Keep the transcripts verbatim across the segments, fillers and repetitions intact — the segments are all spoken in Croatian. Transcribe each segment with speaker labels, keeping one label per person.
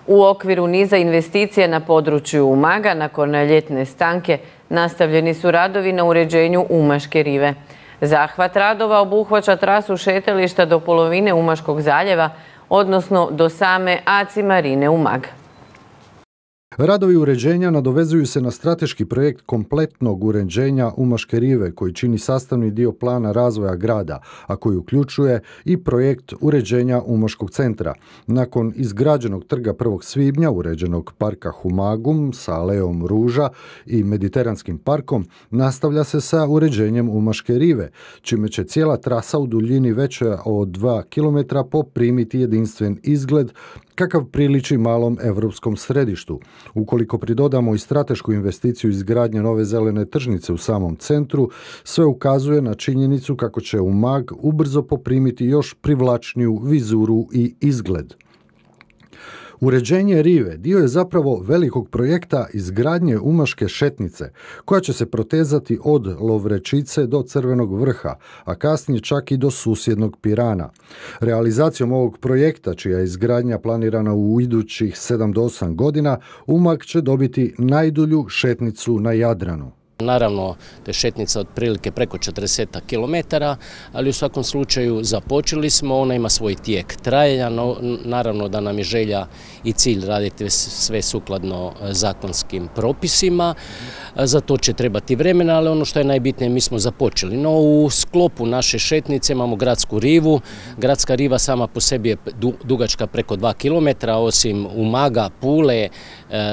Speaker 1: U okviru niza investicija na području Umaga nakon ljetne stanke nastavljeni su radovi na uređenju Umaške rive. Zahvat radova obuhvaća trasu šetališta do polovine Umaškog zaljeva, odnosno do same Aci Marine Umag.
Speaker 2: Radovi uređenja nadovezuju se na strateški projekt kompletnog uređenja Umaške rive koji čini sastavni dio plana razvoja grada, a koji uključuje i projekt uređenja Umaškog centra. Nakon izgrađenog trga prvog svibnja, uređenog parka Humagum sa aleom ruža i mediteranskim parkom, nastavlja se sa uređenjem Umaške rive, čime će cijela trasa u duljini veća od dva kilometra poprimiti jedinstven izgled kakav priliči malom europskom središtu. Ukoliko pridodamo i stratešku investiciju izgradnje nove zelene tržnice u samom centru, sve ukazuje na činjenicu kako će Umag ubrzo poprimiti još privlačniju vizuru i izgled. Uređenje rive dio je zapravo velikog projekta izgradnje Umaške šetnice, koja će se protezati od Lovrečice do Crvenog vrha, a kasnije čak i do susjednog Pirana. Realizacijom ovog projekta, čija je izgradnja planirana u idućih sedam do osam godina, Umag će dobiti najdulju šetnicu na Jadranu.
Speaker 3: Naravno, to je šetnica otprilike preko četrdeset kilometara, ali u svakom slučaju započeli smo, ona ima svoj tijek trajanja, no, naravno da nam je želja i cilj raditi sve sukladno zakonskim propisima, za to će trebati vremena, ali ono što je najbitnije, mi smo započeli. No, u sklopu naše šetnice imamo gradsku rivu, gradska riva sama po sebi je dugačka preko dva kilometra, osim Umaga, Pule,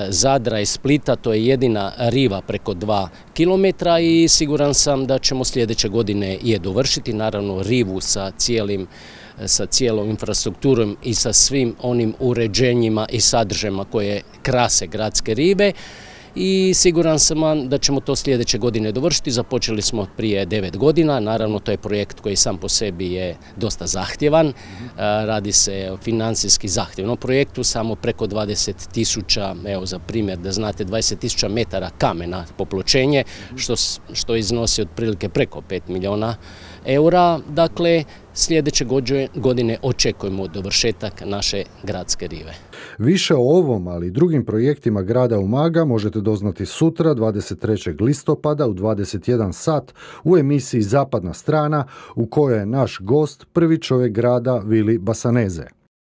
Speaker 3: Zadra i Splita, to je jedina riva preko dva kilometra i siguran sam da ćemo sljedeće godine je dovršiti, naravno rivu sa cijelim sa cijelom infrastrukturom i sa svim onim uređenjima i sadržajima koje krase gradske rive. I siguran sam da ćemo to sljedeće godine dovršiti. Započeli smo prije devet godina, naravno to je projekt koji sam po sebi je dosta zahtjevan, radi se o financijski zahtjevnom projektu, samo preko dvadeset tisuća, evo za primjer da znate, dvadeset tisuća metara kamena popločenje, što, što iznosi otprilike preko pet milijuna eura, dakle sljedeće godine očekujemo dovršetak naše gradske rive.
Speaker 2: Više o ovom, ali i drugim projektima grada Umaga možete doznati sutra, dvadeset trećeg listopada u dvadeset jedan sat u emisiji Zapadna strana, u kojoj je naš gost prvi čovjek grada Vili Basaneze.